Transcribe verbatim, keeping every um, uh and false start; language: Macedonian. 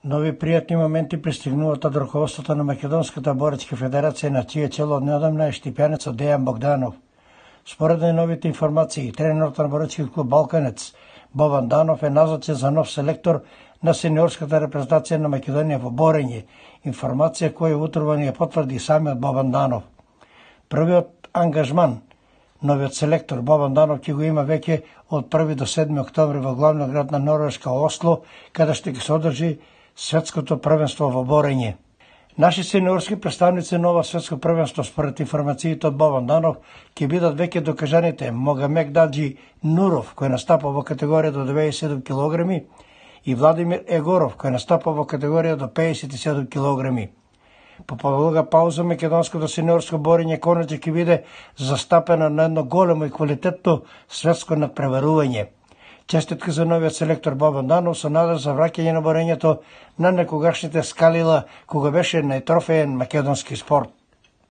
Нови пријатни моменти пристигнуваат од раководството на Македонската боречка федерација, на чие чело неодамна е штипјанецот Дејан Богданов. Според најновите информации, тренерот на боречкиот клуб Балканец Бобан Данов е назначен за нов селектор на сениорската репрезентација на Македонија во борење, информација која утрово ни ја потврди самиот Бобан Данов. Првиот ангажман новиот селектор Бобан Данов ќе го има веќе од први до седми октомври во главниот град на Норвешка Осло, каде што ќе се одржи светското првенство во борење. Наши сениорски представници на ова светско првенство, според информациите од Бобан Данов, ќе бидат веќе докажаните Могамек Даджи Нуров, кој настапа во категорија до деветдесет и седум килограми, и Владимир Егоров, кој настапа во категорија до педесет и седум килограми. По подолга пауза, македонското сениорско борење конечно ќе биде застапено на едно големо и квалитетно светско надпреварување. Честитка за новиот селектор Бобан Данов со надеж за враќање на борењето на некогашните скалила кога беше најтрофеен македонски спорт.